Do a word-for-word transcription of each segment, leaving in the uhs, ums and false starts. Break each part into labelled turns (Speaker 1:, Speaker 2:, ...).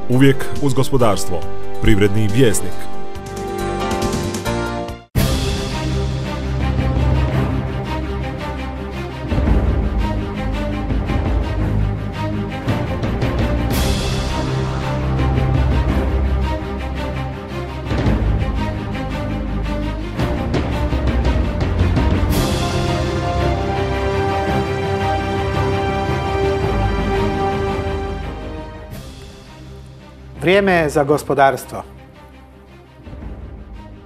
Speaker 1: Uvijek uz gospodarstvo. Privredni vjesnik.
Speaker 2: Vrijeme je za gospodarstvo.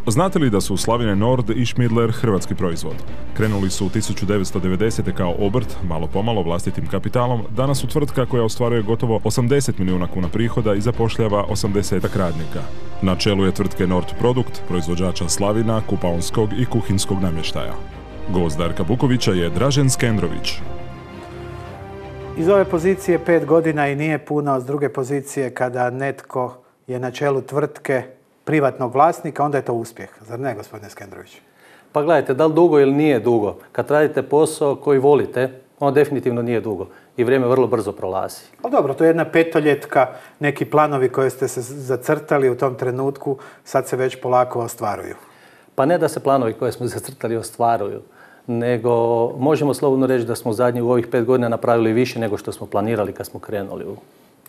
Speaker 1: Znate li da su Slavine Nord i Schmidler hrvatski proizvod? Krenuli su u tisuću devetsto devedesete. kao obrt, malo pomalo vlastitim kapitalom, danas su tvrtka koja ostvaruje gotovo osamdeset milijuna kuna prihoda i zapošljava osamdesetak radnika. Na čelu je tvrtke Nord Produkt, proizvođača slavina, kupaonskog i kuhinskog namještaja. Gost Darka Bukovića je Dražen Skendrović.
Speaker 2: Iz ove pozicije pet godina i nije puno, s druge pozicije kada netko je na čelu tvrtke privatnog vlasnika, onda je to uspjeh. Zar ne, gospodine Skendrović?
Speaker 3: Pa gledajte, da li dugo ili nije dugo? Kad radite posao koji volite, on definitivno nije dugo i vrijeme vrlo brzo prolazi.
Speaker 2: Ali dobro, to je jedna petoljetka, neki planovi koje ste se zacrtali u tom trenutku, sad se već polako ostvaruju.
Speaker 3: Pa ne da se planovi koje smo zacrtali ostvaruju, nego možemo slobodno reći da smo zadnjih u ovih pet godina napravili više nego što smo planirali kad smo krenuli u,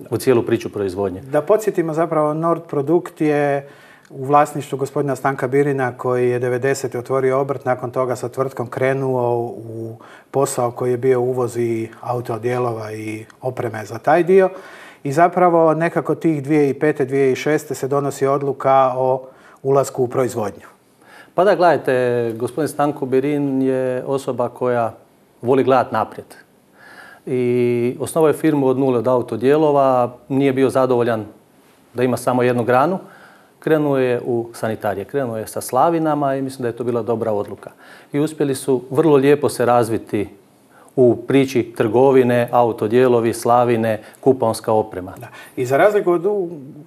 Speaker 3: u cijelu priču proizvodnje.
Speaker 2: Da podsjetimo, zapravo Nord Produkt je u vlasništvu gospodina Stanka Birina koji je devedesete otvorio obrt, nakon toga sa tvrtkom krenuo u posao koji je bio uvoz i autodijelova i opreme za taj dio. I zapravo nekako tih dvije tisuće pete. dvije tisuće šeste. se donosi odluka o ulasku u proizvodnju.
Speaker 3: Pa da, gledajte, gospodin Stanko Birin je osoba koja voli gledati naprijed. I osnovao je firmu od nule, od autodijelova, nije bio zadovoljan da ima samo jednu granu. Krenuo je u sanitarije, krenuo je sa slavinama i mislim da je to bila dobra odluka. I uspjeli su vrlo lijepo se razviti u priči trgovine, autodijelovi, slavine, kupaonska oprema.
Speaker 2: Da. I za razliku od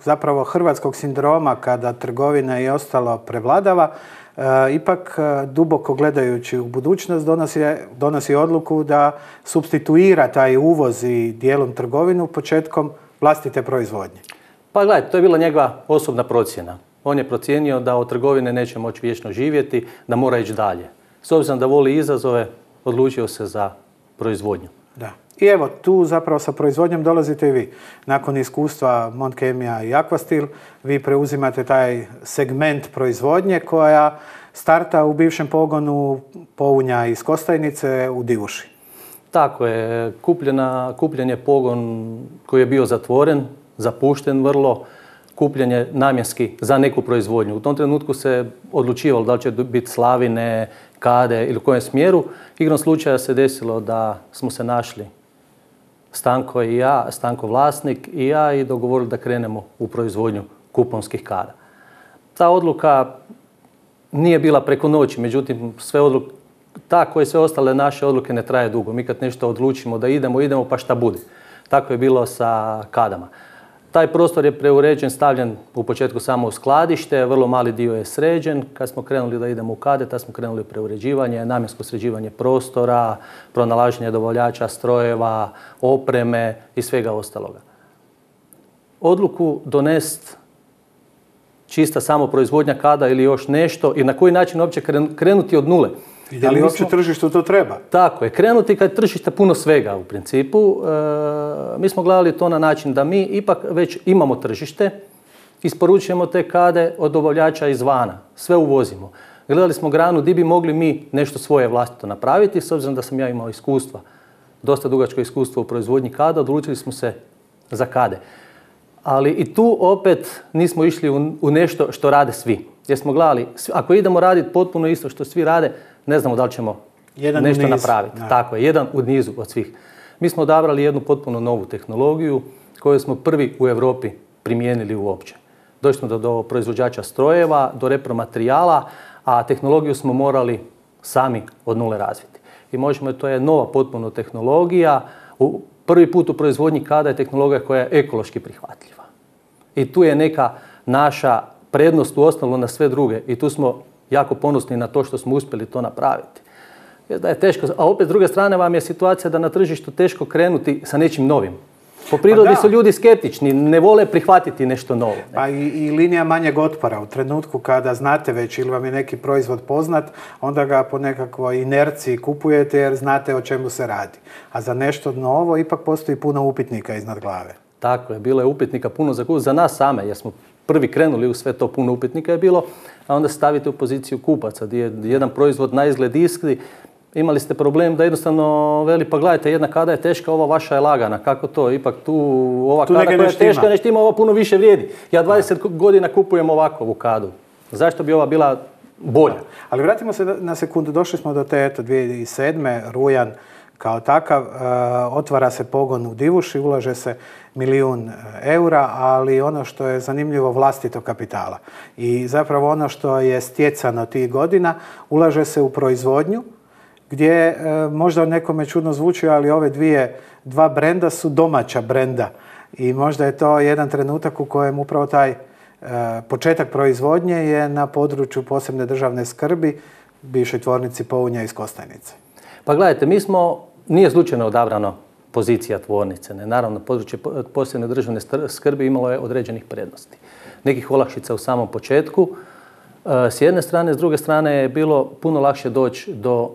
Speaker 2: zapravo hrvatskog sindroma kada trgovina i ostalo prevladava, e, ipak duboko gledajući u budućnost donosi, donosi odluku da supstituira taj uvoz i dijelom trgovinu početkom vlastite proizvodnje.
Speaker 3: Pa gledajte, to je bila njegova osobna procjena. On je procijenio da od trgovine neće moći vječno živjeti, da mora ići dalje. S obzirom da voli izazove, odlučio se za proizvodnju.
Speaker 2: Da. I evo, tu zapravo sa proizvodnjom dolazite i vi. Nakon iskustva Montkemija i Aquastil, vi preuzimate taj segment proizvodnje koja starta u bivšem pogonu Pounja iz Kostajnice u Divuši.
Speaker 3: Tako je. Kupljena, kupljen je pogon koji je bio zatvoren, zapušten vrlo, kupljen je namjenski za neku proizvodnju. U tom trenutku se odlučivalo da li će biti slavine, kade ili u kojem smjeru. Igrom slučaja se desilo da smo se našli Stanko i ja, Stanko vlasnik i ja i dogovorili da krenemo u proizvodnju kuponskih kada. Ta odluka nije bila preko noći, međutim sve odluke, ta koje sve ostale naše odluke ne traje dugo. Mi kad nešto odlučimo da idemo, idemo pa šta bude. Tako je bilo sa kadama. Taj prostor je preuređen, stavljen u početku samo u skladište, vrlo mali dio je sređen. Kad smo krenuli da idemo u kade, tad smo krenuli u preuređivanje, namjensko sređivanje prostora, pronalaženje dobavljača, strojeva, opreme i svega ostaloga. Odluku donest čista samo proizvodnja kada ili još nešto i na koji način uopće krenuti od nule.
Speaker 2: I da li uopće tržištu to treba?
Speaker 3: Tako je. Krenuti kad tržište puno svega u principu. E, mi smo gledali to na način da mi ipak već imamo tržište, isporučujemo te kade od dobavljača izvana. Sve uvozimo. Gledali smo granu di bi mogli mi nešto svoje vlastito napraviti, s obzirom da sam ja imao iskustva, dosta dugačko iskustvo u proizvodnji kada, odlučili smo se za kade. Ali i tu opet nismo išli u, u nešto što rade svi. Jer smo gledali, ako idemo raditi potpuno isto što svi rade, ne znamo da li ćemo jedan nešto napraviti. Da. Tako je, jedan u nizu od svih. Mi smo odabrali jednu potpuno novu tehnologiju koju smo prvi u Europi primijenili uopće. Došli smo do, do proizvođača strojeva, do repromaterijala, a tehnologiju smo morali sami od nule razviti. I možemo, to je nova potpuno tehnologija. U, prvi put u proizvodnji kada je tehnologija koja je ekološki prihvatljiva. I tu je neka naša prednost u osnovu na sve druge. I tu smo jako ponosni na to što smo uspjeli to napraviti. Jer da je teško, a opet s druge strane vam je situacija da na tržištu teško krenuti sa nečim novim. Po prirodi pa su ljudi skeptični, ne vole prihvatiti nešto novo. Ne?
Speaker 2: Pa i, i linija manjeg otpora. U trenutku kada znate već ili vam je neki proizvod poznat, onda ga po nekakvoj inerciji kupujete jer znate o čemu se radi. A za nešto novo ipak postoji puno upitnika iznad glave.
Speaker 3: Tako je, bilo je upitnika puno za, za nas same, jer smo prvi krenuli u sve to, puno upitnika je bilo, a onda stavite u poziciju kupaca, gdje je jedan proizvod na izgled iskri. Imali ste problem da jednostavno veli, pa gledajte, jedna kada je teška, ova vaša je lagana. Kako to? Ipak tu ova tu kada koja je teška ne štima, ova puno više vrijedi. Ja dvadeset godina kupujem ovakvu kadu. Zašto bi ova bila bolja?
Speaker 2: Ali vratimo se na sekundu. Došli smo do te eto, dvije tisuće sedme. rujan kao takav. E, otvara se pogon u Divuši, ulaže se milijun eura, ali ono što je zanimljivo vlastito kapitala. I zapravo ono što je stjecano tih godina, ulaže se u proizvodnju, gdje e, možda nekome čudno zvuči, ali ove dvije, dva brenda su domaća brenda. I možda je to jedan trenutak u kojem upravo taj e, početak proizvodnje je na području posebne državne skrbi, bivšoj tvornici Pounja iz Kostajnice.
Speaker 3: Pa gledajte, mi smo, nije slučajno odabrano pozicija tvornice. Ne? Naravno, područje posebne državne skrbi imalo je određenih prednosti. Nekih olakšica u samom početku. E, s jedne strane, s druge strane je bilo puno lakše doći do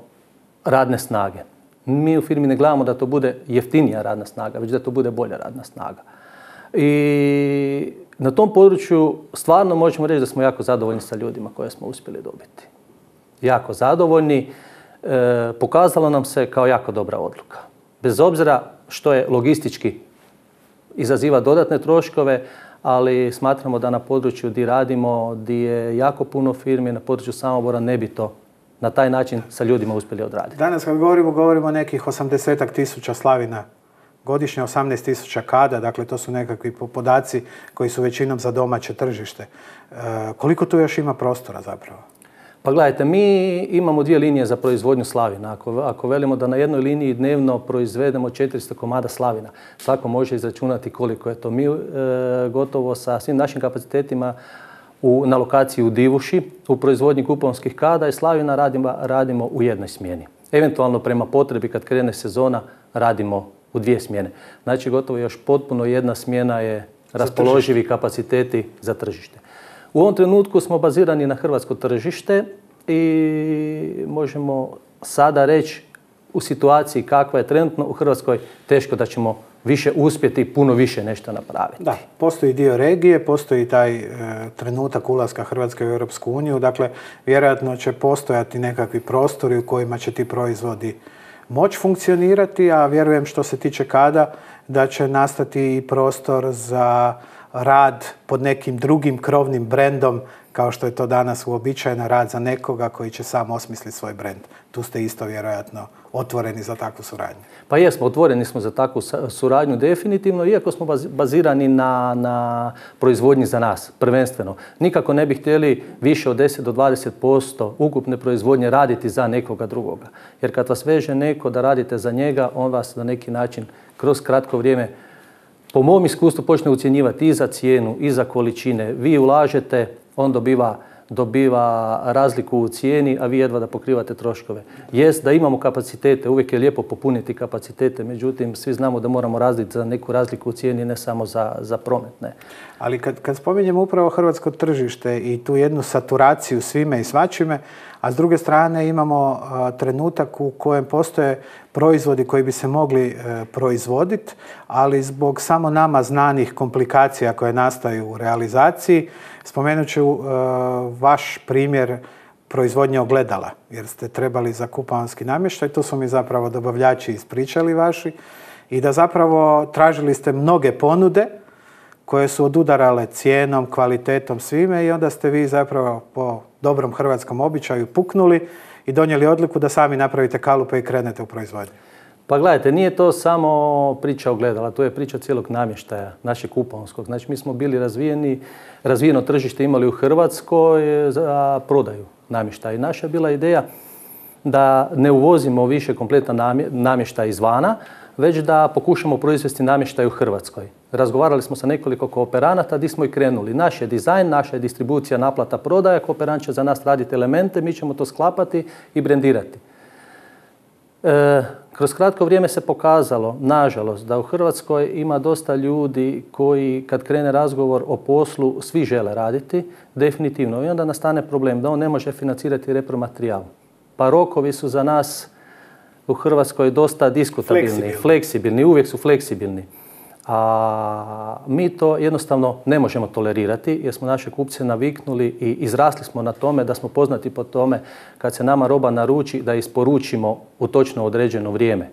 Speaker 3: radne snage. Mi u firmi ne gledamo da to bude jeftinija radna snaga, već da to bude bolja radna snaga. I na tom području stvarno možemo reći da smo jako zadovoljni sa ljudima koje smo uspjeli dobiti. Jako zadovoljni. E, pokazalo nam se kao jako dobra odluka. Bez obzira što je logistički izaziva dodatne troškove, ali smatramo da na području gdje radimo, gdje je jako puno firmi, na području Samobora ne bi to na taj način sa ljudima uspjeli odraditi.
Speaker 2: Danas kad govorimo, govorimo o nekih osamdesetak tisuća slavina godišnje, osamnaest tisuća kada, dakle to su nekakvi podaci koji su većinom za domaće tržište. E, koliko tu još ima prostora zapravo?
Speaker 3: Pa gledajte, mi imamo dvije linije za proizvodnju slavina. Ako, ako velimo da na jednoj liniji dnevno proizvedemo četiristo komada slavina, svako može izračunati koliko je to. Mi e, gotovo sa svim našim kapacitetima U, na lokaciji u Divuši, u proizvodnji kuponskih kada i slavina radimo, radimo u jednoj smjeni. Eventualno prema potrebi kad krene sezona radimo u dvije smjene. Znači gotovo još potpuno jedna smjena je raspoloživi kapaciteti za tržište. U ovom trenutku smo bazirani na hrvatsko tržište i možemo sada reći u situaciji kakva je trenutno u Hrvatskoj teško da ćemo više uspjeti, puno više nešto napraviti.
Speaker 2: Da, postoji dio regije, postoji taj e, trenutak ulaska Hrvatske u Europsku uniju, dakle vjerojatno će postojati nekakvi prostori u kojima će ti proizvodi moći funkcionirati, a vjerujem što se tiče kada da će nastati i prostor za rad pod nekim drugim krovnim brendom, kao što je to danas uobičajeno, rad za nekoga koji će sam osmisliti svoj brend. Tu ste isto vjerojatno otvoreni za takvu suradnju.
Speaker 3: Pa jesmo, otvoreni smo za takvu suradnju definitivno, iako smo bazirani na, na proizvodnji za nas, prvenstveno. Nikako ne bi htjeli više od deset do dvadeset posto ukupne proizvodnje raditi za nekoga drugoga. Jer kad vas veže neko da radite za njega, on vas na neki način kroz kratko vrijeme, po mom iskustvu, počne ucjenjivati i za cijenu, i za količine. Vi ulažete, on dobiva, dobiva razliku u cijeni, a vi jedva da pokrivate troškove. Jest da imamo kapacitete, uvijek je lijepo popuniti kapacitete, međutim, svi znamo da moramo razliti za neku razliku u cijeni, ne samo za, za promet. Ne.
Speaker 2: Ali kad, kad spominjemo upravo hrvatsko tržište i tu jednu saturaciju svime i svačime, a s druge strane imamo a, trenutak u kojem postoje proizvodi koji bi se mogli e, proizvoditi, ali zbog samo nama znanih komplikacija koje nastaju u realizaciji, spomenut ću e, vaš primjer proizvodnje ogledala, jer ste trebali za kupaonski namještaj, to su mi zapravo dobavljači ispričali vaši, i da zapravo tražili ste mnoge ponude koje su odudarale cijenom, kvalitetom, svime, i onda ste vi zapravo po dobrom hrvatskom običaju puknuli i donijeli odluku da sami napravite kalupe i krenete u proizvodnju.
Speaker 3: Pa gledajte, nije to samo priča ogledala, to je priča cijelog namještaja, našeg kuponskog. Znači mi smo bili razvijeni, razvijeno tržište imali u Hrvatskoj za prodaju namještaja. I naša je bila ideja da ne uvozimo više kompletan namještaj izvana, već da pokušamo proizvesti namještaj u Hrvatskoj. Razgovarali smo sa nekoliko kooperanata, di smo i krenuli. Naš je dizajn, naša je distribucija, naplata, prodaja, kooperant će za nas raditi elemente, mi ćemo to sklapati i brendirati. E, Kroz kratko vrijeme se pokazalo, nažalost, da u Hrvatskoj ima dosta ljudi koji kad krene razgovor o poslu svi žele raditi, definitivno. I onda nastane problem da on ne može financirati repromaterijal. Pa rokovi su za nas u Hrvatskoj dosta diskutabilni, fleksibilni, fleksibilni uvijek su fleksibilni. A mi to jednostavno ne možemo tolerirati jer smo naše kupce naviknuli i izrasli smo na tome da smo poznati po tome kad se nama roba naruči da isporučimo u točno određeno vrijeme.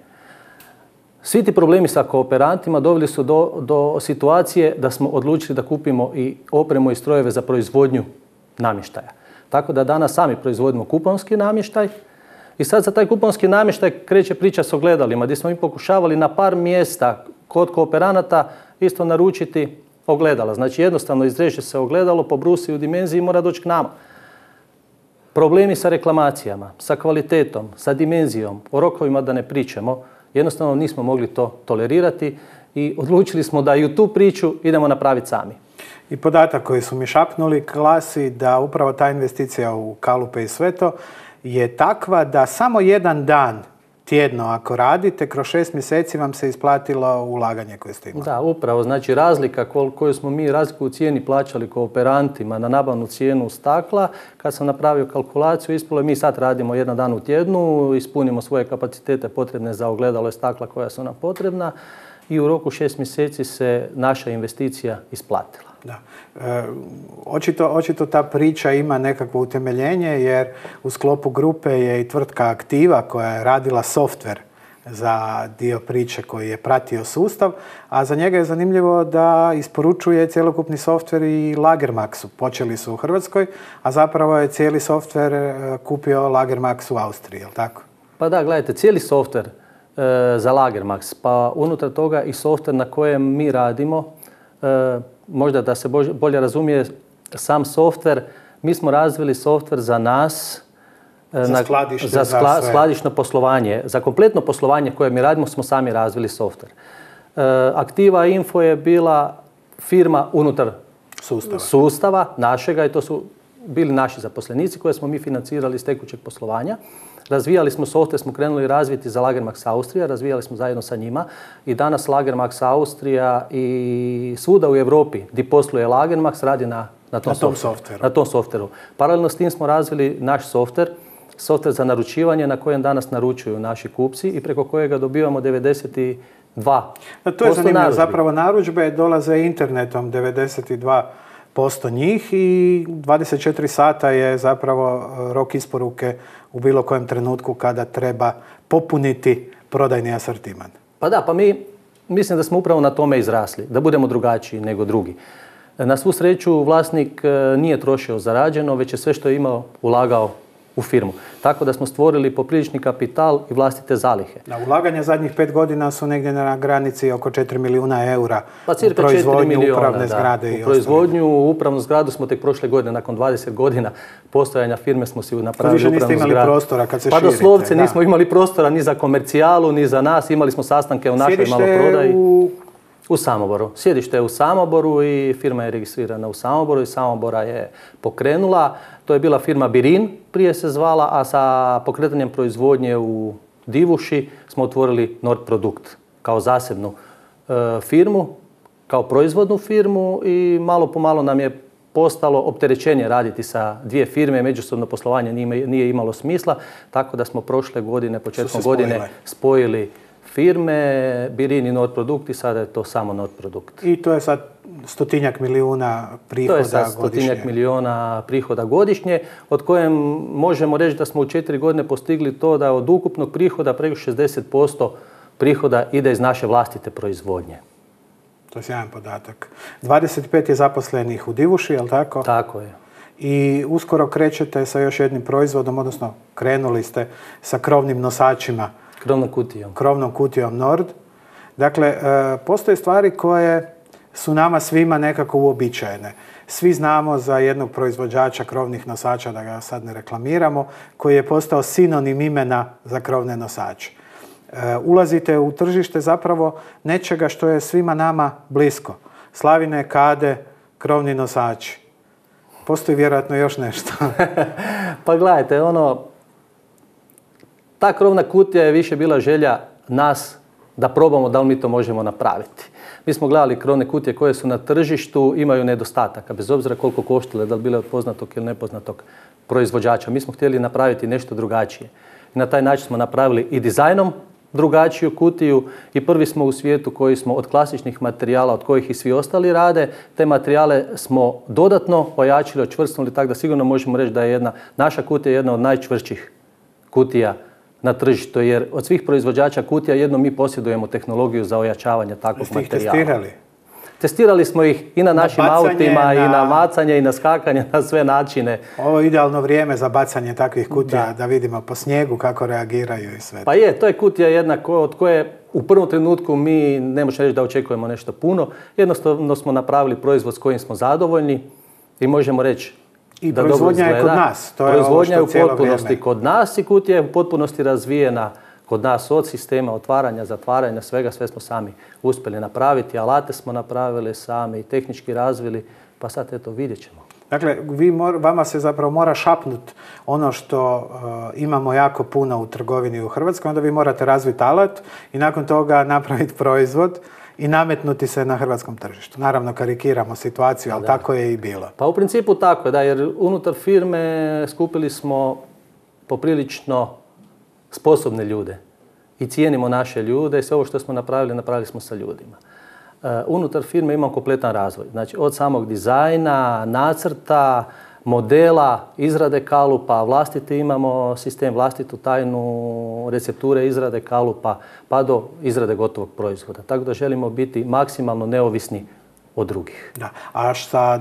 Speaker 3: Svi ti problemi sa kooperantima doveli su do, do situacije da smo odlučili da kupimo i opremu i strojeve za proizvodnju namještaja. Tako da danas sami proizvodimo kuponski namještaj i sad za taj kuponski namještaj kreće priča s ogledalima gdje smo mi pokušavali na par mjesta kod kooperanata isto naručiti ogledala. Znači jednostavno izreže se ogledalo, pobrusi u dimenziji i mora doći k nama. Problemi sa reklamacijama, sa kvalitetom, sa dimenzijom, o rokovima da ne pričamo, jednostavno nismo mogli to tolerirati i odlučili smo da i u tu priču idemo napraviti sami.
Speaker 2: I podatak koji su mi šapnuli glasi da upravo ta investicija u kalupe i sve to je takva da samo jedan dan tjedno ako radite, kroz šest mjeseci vam se isplatilo ulaganje koje ste imali.
Speaker 3: Da, upravo. Znači razlika koju smo mi razliku u cijeni plaćali kooperantima na nabavnu cijenu stakla, kad sam napravio kalkulaciju, ispalo je mi sad radimo jedan dan u tjednu, ispunimo svoje kapacitete potrebne za ogledalo i stakla koja su nam potrebna i u roku šest mjeseci se naša investicija isplatila.
Speaker 2: Da. E, očito, očito ta priča ima nekakvo utemeljenje jer u sklopu grupe je i tvrtka Aktiva koja je radila softver za dio priče koji je pratio sustav, a za njega je zanimljivo da isporučuje cjelokupni softver i Lagermaxu. Počeli su u Hrvatskoj, a zapravo je cijeli softver kupio Lagermax u Austriji, je li tako?
Speaker 3: Pa da, gledajte, cijeli softver e, za Lagermax, pa unutar toga i softver na kojem mi radimo, e, možda da se bolje razumije sam softver, mi smo razvili softver za nas,
Speaker 2: za, skladište,
Speaker 3: za skla, za skladišno poslovanje. Za kompletno poslovanje koje mi radimo smo sami razvili softver. E, Aktiva Info je bila firma unutar
Speaker 2: sustava.
Speaker 3: sustava našega i to su bili naši zaposlenici koje smo mi financirali iz tekućeg poslovanja. Razvijali smo softver, smo krenuli razviti za Lagermax Austrija, razvijali smo zajedno sa njima i danas Lagermax Austrija i svuda u Europi gdje posluje Lagermax radi na, na, tom,
Speaker 2: na, tom
Speaker 3: softveru, na tom softveru. Paralelno s tim smo razvili naš softver, softver za naručivanje na kojem danas naručuju naši kupci i preko kojega dobivamo devedeset dva posto
Speaker 2: to je zanimljivo,
Speaker 3: narudžbi.
Speaker 2: zapravo narudžbe dolaze internetom devedeset dva posto njih i dvadeset četiri sata je zapravo rok isporuke u bilo kojem trenutku kada treba popuniti prodajni asortiman.
Speaker 3: Pa da, pa mi mislim da smo upravo na tome izrasli, da budemo drugačiji nego drugi. Na svu sreću vlasnik nije trošio zarađeno, već je sve što je imao ulagao u firmu. Tako da smo stvorili poprilični kapital i vlastite zalihe.
Speaker 2: Na ulaganja zadnjih pet godina su negdje na granici oko četiri milijuna eura
Speaker 3: pa cirka
Speaker 2: u proizvodnju
Speaker 3: milijuna,
Speaker 2: upravne
Speaker 3: da.
Speaker 2: zgrade.
Speaker 3: U
Speaker 2: i
Speaker 3: proizvodnju upravnu zgradu smo tek prošle godine, nakon dvadeset godina postojanja firme smo si napravili
Speaker 2: upravnu zgradu. Više niste imali prostora kad se
Speaker 3: pa
Speaker 2: širite.
Speaker 3: Pa doslovce
Speaker 2: da.
Speaker 3: nismo imali prostora ni za komercijalu, ni za nas. Imali smo sastanke u našoj maloprodaji.
Speaker 2: U...
Speaker 3: U Samoboru. Sjedište je u Samoboru i firma je registrirana u Samoboru i Samobora je pokrenula. To je bila firma Birin, prije se zvala, a sa pokretanjem proizvodnje u Divuši smo otvorili Nord Produkt kao zasebnu e, firmu, kao proizvodnu firmu i malo po malo nam je postalo opterećenje raditi sa dvije firme, međusobno poslovanje nije, nije imalo smisla, tako da smo prošle godine, početkom godine spojili firme, Birin i Nord Produkt i sada je to samo Nord Produkt.
Speaker 2: I to je sad stotinjak milijuna prihoda godišnje. To je sad
Speaker 3: stotinjak
Speaker 2: godišnje.
Speaker 3: milijuna prihoda godišnje, od kojem možemo reći da smo u četiri godine postigli to da od ukupnog prihoda preko šezdeset posto prihoda ide iz naše vlastite proizvodnje.
Speaker 2: To je sjajan podatak. dvadeset pet je zaposlenih u Divuši, je li tako?
Speaker 3: Tako je.
Speaker 2: I uskoro krećete sa još jednim proizvodom, odnosno krenuli ste sa krovnim nosačima.
Speaker 3: Krovnom kutijom.
Speaker 2: Krovnom kutijom Nord. Dakle, postoje stvari koje su nama svima nekako uobičajene. Svi znamo za jednog proizvođača krovnih nosača, da ga sad ne reklamiramo, koji je postao sinonim imena za krovne nosače. Ulazite u tržište zapravo nečega što je svima nama blisko. Slavine, kade, krovni nosači. Postoji vjerojatno još nešto.
Speaker 3: Pa gledajte, ono... Ta krovna kutija je više bila želja nas da probamo da li mi to možemo napraviti. Mi smo gledali krone kutije koje su na tržištu, imaju nedostataka, bez obzira koliko koštile, da li bile od poznatog ili nepoznatog proizvođača. Mi smo htjeli napraviti nešto drugačije. I na taj način smo napravili i dizajnom drugačiju kutiju i prvi smo u svijetu koji smo od klasičnih materijala, od kojih i svi ostali rade, te materijale smo dodatno ojačili, očvrsnuli, tako da sigurno možemo reći da je jedna, naša kutija jedna od najčvršćih kutija na tržištu, jer od svih proizvođača kutija jedno mi posjedujemo tehnologiju za ojačavanje takvog
Speaker 2: Ste ih
Speaker 3: materijala.
Speaker 2: testirali?
Speaker 3: Testirali smo ih i na našim
Speaker 2: na bacanje,
Speaker 3: autima, na... i na macanje, i na skakanje, na sve načine.
Speaker 2: Ovo je idealno vrijeme za bacanje takvih kutija,
Speaker 3: Da.
Speaker 2: da vidimo po snijegu kako reagiraju i sve.
Speaker 3: Pa je, to je kutija jedna ko, od koje u prvom trenutku mi ne možemo reći da očekujemo nešto puno. Jednostavno smo napravili proizvod s kojim smo zadovoljni i možemo reći
Speaker 2: I
Speaker 3: da
Speaker 2: proizvodnja
Speaker 3: dobro
Speaker 2: je kod
Speaker 3: izgleda.
Speaker 2: nas. To je
Speaker 3: Proizvodnja je
Speaker 2: ovo
Speaker 3: u
Speaker 2: što cijelo
Speaker 3: potpunosti
Speaker 2: vrijeme.
Speaker 3: kod nas i kutija je u potpunosti razvijena kod nas od sistema otvaranja, zatvaranja, svega, sve smo sami uspjeli napraviti. Alate smo napravili sami, tehnički razvili, pa sad eto vidjet ćemo.
Speaker 2: Dakle, vi mor, vama se zapravo mora šapnut ono što uh, imamo jako puno u trgovini u Hrvatskoj, onda vi morate razviti alat i nakon toga napraviti proizvod i nametnuti se na hrvatskom tržištu. Naravno, karikiramo situaciju, ali
Speaker 3: Da.
Speaker 2: tako je i bilo.
Speaker 3: Pa u principu tako je, da, jer unutar firme skupili smo poprilično sposobne ljude i cijenimo naše ljude i sve ovo što smo napravili, napravili smo sa ljudima. Uh, unutar firme imamo kompletan razvoj. Znači, od samog dizajna, nacrta, modela, izrade kalupa, vlastiti imamo sistem, vlastitu tajnu recepture izrade kalupa, pa do izrade gotovog proizvoda. Tako da želimo biti maksimalno neovisni od drugih.
Speaker 2: Da. A sa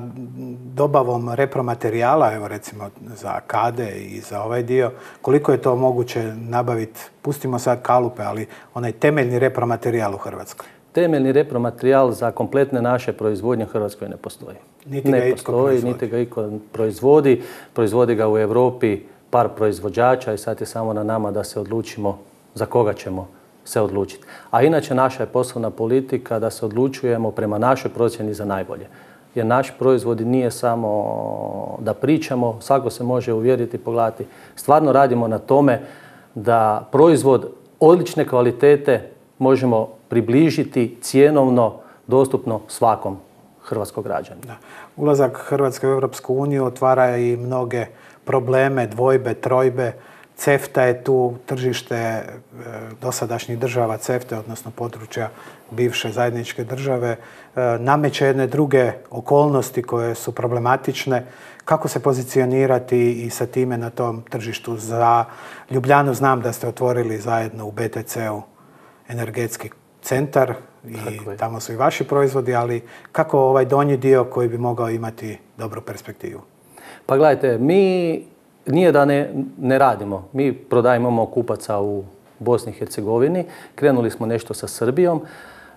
Speaker 2: dobavom repromaterijala, evo recimo za kade i za ovaj dio, koliko je to moguće nabaviti, pustimo sad kalupe, ali onaj temeljni repromaterijal u Hrvatskoj?
Speaker 3: Temeljni repromaterijal za kompletne naše proizvodnje u Hrvatskoj ne postoji.
Speaker 2: Niti ga
Speaker 3: ne
Speaker 2: itko
Speaker 3: postoji,
Speaker 2: proizvodi.
Speaker 3: niti ga itko proizvodi. Proizvodi ga u Europi par proizvođača i sad je samo na nama da se odlučimo za koga ćemo se odlučiti. A inače naša je poslovna politika da se odlučujemo prema našoj procjeni za najbolje. Jer naš proizvod nije samo da pričamo, svako se može uvjeriti i pogledati. Stvarno radimo na tome da proizvod odlične kvalitete možemo približiti cjenovno dostupno svakom hrvatskom građaninu.
Speaker 2: Da. Ulazak Hrvatske u Europsku uniju otvara i mnoge probleme, dvojbe, trojbe. CEFTA je tu, tržište e, dosadašnjih država CEFTA, odnosno područja bivše zajedničke države, e, nameće jedne druge okolnosti koje su problematične. Kako se pozicionirati i sa time na tom tržištu? Za Ljubljanu znam da ste otvorili zajedno u B T C-u energetski centar i tamo su i vaši proizvodi, ali kako ovaj donji dio koji bi mogao imati dobru perspektivu?
Speaker 3: Pa gledajte, mi nije da ne, ne radimo. Mi prodajemo kupaca u Bosni i Hercegovini, krenuli smo nešto sa Srbijom,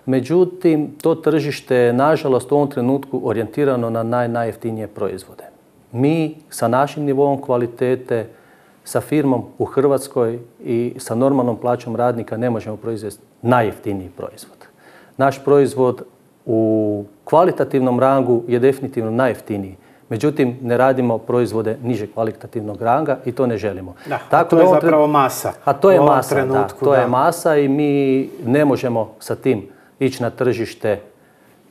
Speaker 3: međutim to tržište je nažalost u ovom trenutku orijentirano na naj, najjeftinije proizvode. Mi sa našim nivoom kvalitete, sa firmom u Hrvatskoj i sa normalnom plaćom radnika ne možemo proizvesti najjeftiniji proizvod. Naš proizvod u kvalitativnom rangu je definitivno najjeftiniji. Međutim, ne radimo proizvode niže kvalitativnog ranga i to ne želimo.
Speaker 2: Da,
Speaker 3: Tako
Speaker 2: to je
Speaker 3: da
Speaker 2: zapravo masa.
Speaker 3: A to je
Speaker 2: u ovom
Speaker 3: masa,
Speaker 2: trenutku,
Speaker 3: da, to
Speaker 2: da.
Speaker 3: je masa i mi ne možemo sa tim ići na tržište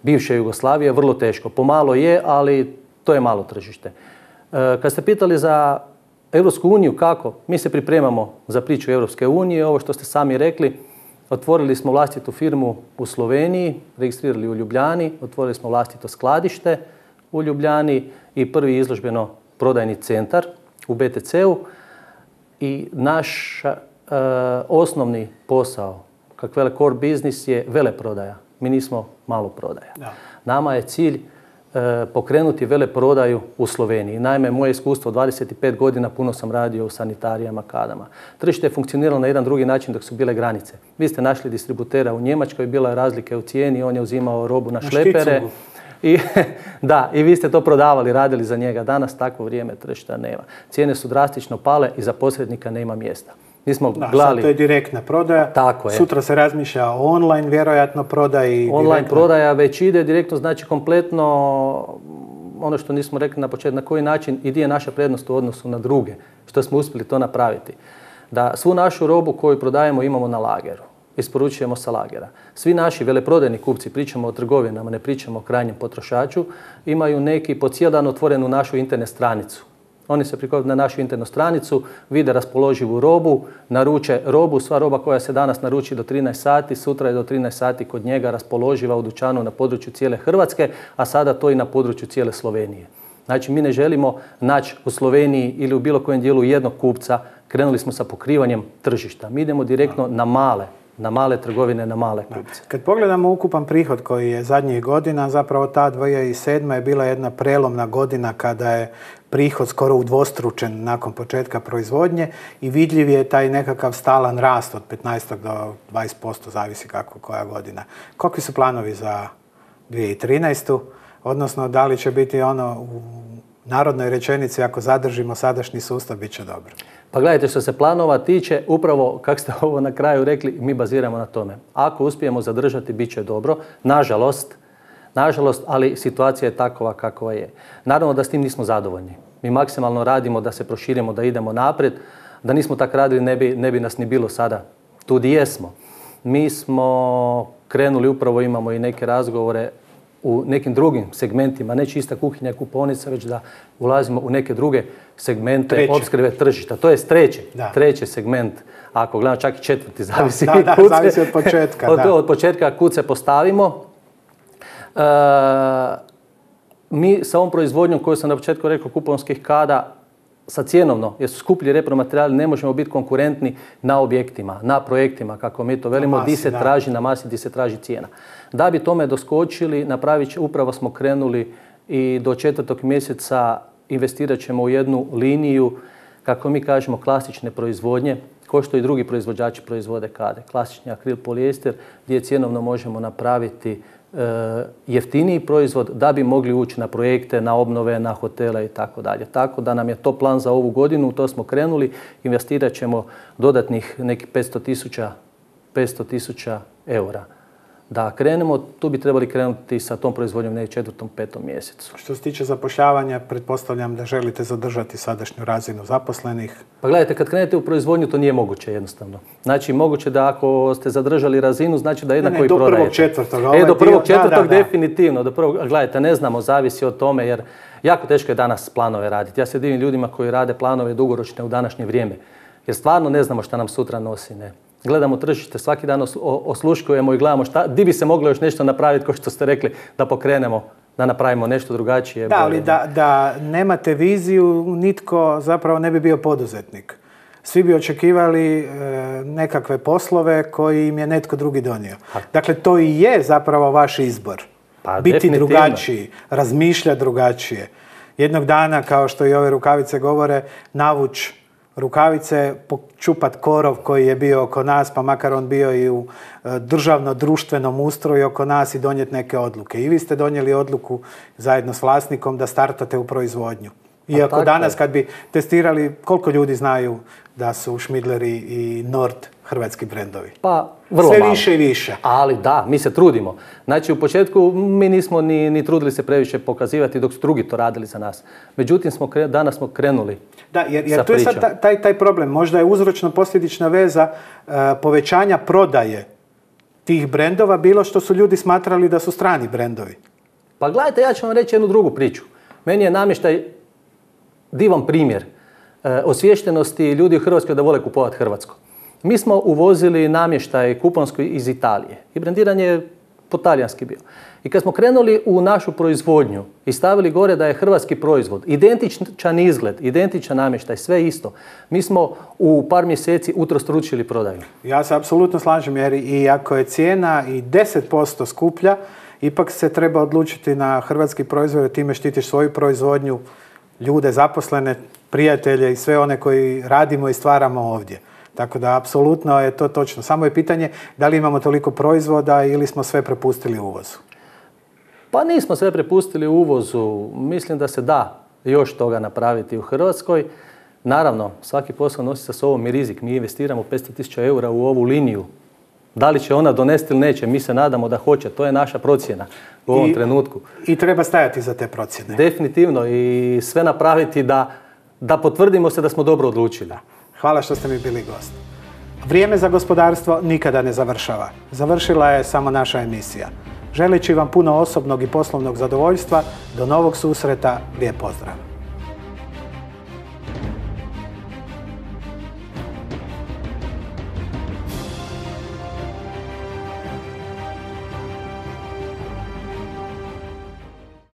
Speaker 3: bivše Jugoslavije, vrlo teško. Pomalo je, ali to je malo tržište. E, kad ste pitali za Europsku uniju kako, mi se pripremamo za priču Europske unije, ovo što ste sami rekli, otvorili smo vlastitu firmu u Sloveniji, registrirali u Ljubljani, otvorili smo vlastito skladište u Ljubljani i prvi izložbeno prodajni centar u B T C-u i naš e, osnovni posao, kak vele core business, je veleprodaja. Mi nismo malo prodaja.
Speaker 2: Da.
Speaker 3: Nama je cilj e, pokrenuti veleprodaju u Sloveniji. Naime, moje iskustvo dvadeset pet godina puno sam radio u sanitarijama, kadama. Tržište je funkcioniralo na jedan drugi način dok su bile granice. Vi ste našli distributera u Njemačkoj, bila je razlike u cijeni, on je uzimao robu na, na šlepere. I, da, i vi ste to prodavali, radili za njega. Danas takvo vrijeme tržišta nema. Cijene su drastično pale i za posrednika nema mjesta. Mi smo
Speaker 2: da,
Speaker 3: gledali...
Speaker 2: sad to je direktna prodaja.
Speaker 3: Tako je.
Speaker 2: Sutra se razmišlja o online, vjerojatno prodaji.
Speaker 3: Online
Speaker 2: direktna.
Speaker 3: prodaja već ide direktno, znači kompletno ono što nismo rekli na početku, na koji način i gdje je naša prednost u odnosu na druge, što smo uspjeli to napraviti. Da svu našu robu koju prodajemo imamo na lageru. isporučujemo sa lagera. Svi naši veleprodajni kupci, pričamo o trgovinama, ne pričamo o krajnjem potrošaču, imaju neki po cijel dan otvorenu našu internet stranicu. Oni se prikopaju na našu internet stranicu, vide raspoloživu robu, naruče robu, sva roba koja se danas naruči do trinaest sati, sutra je do trinaest sati kod njega raspoloživa u dućanu na području cijele Hrvatske, a sada to i na području cijele Slovenije. Znači, mi ne želimo naći u Sloveniji ili u bilo kojem dijelu jednog kupca, krenuli smo sa pokrivanjem tržišta. Mi idemo direktno na male, na male trgovine, na male kupce.
Speaker 2: Kad pogledamo ukupan prihod koji je zadnjih godina, zapravo ta dvije tisuće sedma. je bila jedna prelomna godina kada je prihod skoro udvostručen nakon početka proizvodnje i vidljiv je taj nekakav stalan rast od petnaest do dvadeset posto, zavisi kako koja godina. Kakvi su planovi za dvije tisuće trinaestu. Odnosno, da li će biti ono u narodnoj rečenici, ako zadržimo sadašnji sustav, bit će dobro?
Speaker 3: Pa gledajte, što se planova tiče, upravo, kako ste ovo na kraju rekli, mi baziramo na tome. Ako uspijemo zadržati, bit će dobro. Nažalost, nažalost, ali situacija je takova kakva je. Naravno da s tim nismo zadovoljni. Mi maksimalno radimo da se proširimo, da idemo naprijed. Da nismo tako radili, ne bi, ne bi nas ni bilo sada tu gdje jesmo. Mi smo krenuli, upravo imamo i neke razgovore u nekim drugim segmentima, ne čista kuhinja i kupovnica, već da ulazimo u neke druge segmente opskrbe tržišta. To je treći, treći segment, ako gledamo čak i četvrti, zavisi,
Speaker 2: da, da,
Speaker 3: kuce,
Speaker 2: zavisi od početka.
Speaker 3: od,
Speaker 2: da.
Speaker 3: od početka kud se postavimo. E, mi sa ovom proizvodnjom koju sam na početku rekao, kuponskih kada, sa cjenovno, jer su skuplji repromaterijali, ne možemo biti konkurentni na objektima, na projektima, kako mi to velimo, di se traži na masi, di se traži cijena. Da bi tome doskočili, napravit će, upravo smo krenuli i do četvrtog mjeseca investirat ćemo u jednu liniju, kako mi kažemo, klasične proizvodnje, ko što i drugi proizvođači proizvode kade. Klasični akril polijester, gdje cjenovno možemo napraviti jeftiniji proizvod da bi mogli ući na projekte, na obnove, na hotele i tako dalje. Tako da nam je to plan za ovu godinu, to smo krenuli, investirat ćemo dodatnih nekih petsto tisuća eura. Da krenemo, tu bi trebali krenuti sa tom proizvodnjom ne četvrtom, petom mjesecu.
Speaker 2: Što se tiče zapošljavanja, pretpostavljam da želite zadržati sadašnju razinu zaposlenih.
Speaker 3: Pa gledajte, kad krenete u proizvodnju, to nije moguće jednostavno. Znači, moguće da ako ste zadržali razinu, znači da jednako i prodajete.
Speaker 2: Do prvog četvrtog.
Speaker 3: E, do prvog četvrtog definitivno. Do prvog, gledajte, ne znamo, zavisi od tome, jer jako teško je danas planove raditi. Ja se divim ljudima koji rade planove dugoročne u današnje vrijeme. Jer stvarno ne znamo šta nam sutra nosi, ne. Gledamo tržište, svaki dan osluškujemo i gledamo šta, di bi se moglo još nešto napraviti, kao što ste rekli, da pokrenemo, da napravimo nešto drugačije.
Speaker 2: Da, ali da, da nemate viziju, nitko zapravo ne bi bio poduzetnik. Svi bi očekivali e, nekakve poslove koji im je netko drugi donio. Dakle, to i je zapravo vaš izbor.
Speaker 3: Pa,
Speaker 2: biti drugačiji, razmišljati drugačije. Jednog dana, kao što i ove rukavice govore, navuć rukavice, počupat korov koji je bio oko nas, pa makar on bio i u državno-društvenom ustroju oko nas i donijeti neke odluke. I vi ste donijeli odluku zajedno s vlasnikom da startate u proizvodnju. Iako danas kad bi testirali, koliko ljudi znaju da su Schmidleri i Nord hrvatski brendovi?
Speaker 3: Pa, vrlo
Speaker 2: sve
Speaker 3: malo.
Speaker 2: više i više.
Speaker 3: Ali da, mi se trudimo. Znači, u početku mi nismo ni, ni trudili se previše pokazivati dok su drugi to radili za nas. Međutim, smo kre, danas smo krenuli.
Speaker 2: Da, jer, jer tu je sad taj, taj problem. Možda je uzročno-posljedična veza uh, povećanja prodaje tih brendova bilo što su ljudi smatrali da su strani brendovi.
Speaker 3: Pa gledajte, ja ću vam reći jednu drugu priču. Meni je namještaj divan primjer uh, osviještenosti ljudi u Hrvatskoj da vole kupovati hrvatsko. Mi smo uvozili namještaj kuponski iz Italije i brendiran je po talijanski bio. I kad smo krenuli u našu proizvodnju i stavili gore da je hrvatski proizvod, identičan izgled, identičan namještaj, sve isto, mi smo u par mjeseci utrostručili prodaju.
Speaker 2: Ja se apsolutno slažem, jer i ako je cijena i deset posto skuplja, ipak se treba odlučiti na hrvatski proizvod, time štitiš svoju proizvodnju, ljude, zaposlene, prijatelje i sve one koji radimo i stvaramo ovdje. Tako da, apsolutno je to točno. Samo je pitanje da li imamo toliko proizvoda ili smo sve prepustili uvozu.
Speaker 3: Pa nismo sve prepustili uvozu. Mislim da se da još toga napraviti u Hrvatskoj. Naravno, svaki posao nosi sa sobom i rizik. Mi investiramo petsto tisuća eura u ovu liniju. Da li će ona donesti ili neće, mi se nadamo da hoće. To je naša procjena u ovom
Speaker 2: I,
Speaker 3: trenutku.
Speaker 2: I treba stajati za te procjene.
Speaker 3: Definitivno. I sve napraviti da, da potvrdimo se da smo dobro odlučili.
Speaker 2: Hvala što ste mi bili gost. Vrijeme za gospodarstvo nikada ne završava. Završila je samo naša emisija. Želeći vam puno osobnog i poslovnog zadovoljstva, do novog susreta, lijep pozdrav!